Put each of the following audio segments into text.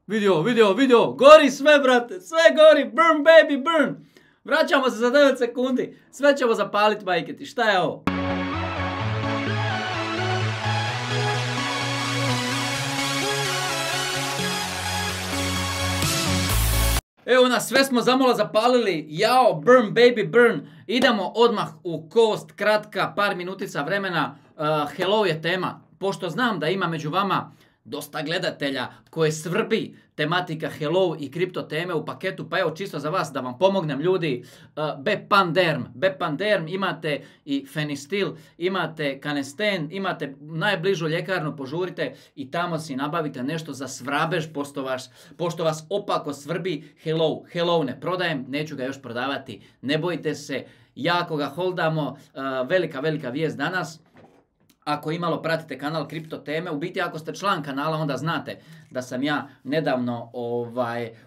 Vidio, gori sve, brate, sve gori, burn baby, burn. Vraćamo se za 9 sekundi, sve ćemo zapalit, majke ti, šta je ovo? Evo nas, sve smo zamalo zapalili, jao, burn baby, burn. Idemo odmah u kost, kratka, par minutica vremena. Hello je tema, pošto znam da ima među vama dosta gledatelja koje svrbi tematika hello i kripto teme u paketu, pa evo čisto za vas da vam pomognem ljudi. Bepanderm, imate i Fenistil, imate Canesten, imate najbližu ljekarnu, požurite i tamo si nabavite nešto za svrabež, pošto vas opako svrbi hello ne prodajem, neću ga još prodavati, ne bojte se, jako ga holdamo, velika vijest danas. Ako imalo pratite kanal Kripto teme, u biti ako ste član kanala onda znate da sam ja nedavno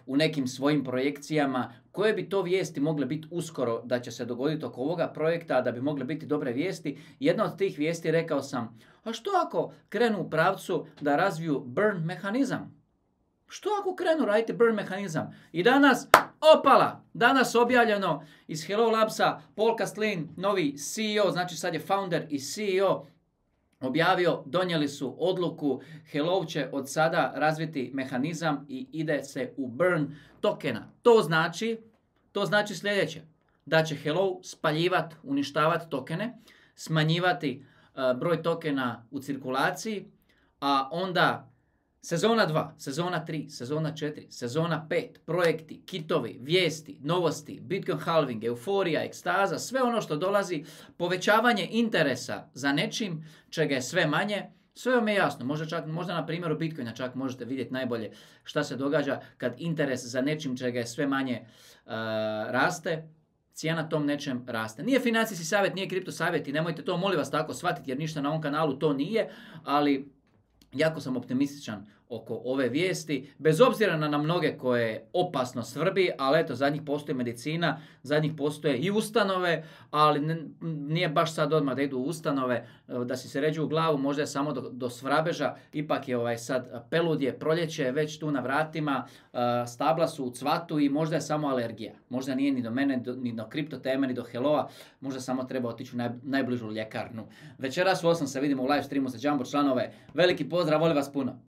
u nekim svojim projekcijama koje bi to vijesti mogle biti uskoro da će se dogoditi oko ovoga projekta, da bi mogle biti dobre vijesti. Jedna od tih vijesti rekao sam, a što ako krenu u pravcu da razviju burn mehanizam? Što ako krenu raditi burn mehanizam? I danas, opala, danas objavljeno iz Hello Labsa, Paul Kastlin, novi CEO, znači sad je founder i CEO, objavio, donijeli su odluku, Hello će od sada razviti mehanizam i ide se u burn tokena. To znači sljedeće, da će Hello spaljivati, uništavati tokene, smanjivati broj tokena u cirkulaciji, a onda sezona 2, sezona 3, sezona 4, sezona 5, projekti, kitovi, vijesti, novosti, Bitcoin halving, euforija, ekstaza, sve ono što dolazi, povećavanje interesa za nečim, čega je sve manje, sve vam je jasno. Možda na primjeru Bitcoina čak možete vidjeti najbolje šta se događa kad interes za nečim čega je sve manje raste, cijena tom nečem raste. Nije financijski savjet, nije kripto savjet i nemojte to molim vas tako shvatiti jer ništa na ovom kanalu to nije, ali jako sam optimističan oko ove vijesti, bez obzira na mnoge koje opasno svrbi, ali eto, za njih postoji medicina, za njih postoje i ustanove, ali nije baš sad odmah da idu u ustanove, da si se ređu u glavu, možda je samo do svrabeža, ipak je sad peludje, proljeće već tu na vratima, stabla su u cvatu i možda je samo alergija. Možda nije ni do mene, ni do kripto teme, ni do Helloa, možda samo treba otići u najbližu ljekarnu. Večeras u 8 se vidimo u live streamu za Jumbo članove. Veliki pozdrav, volim vas puno.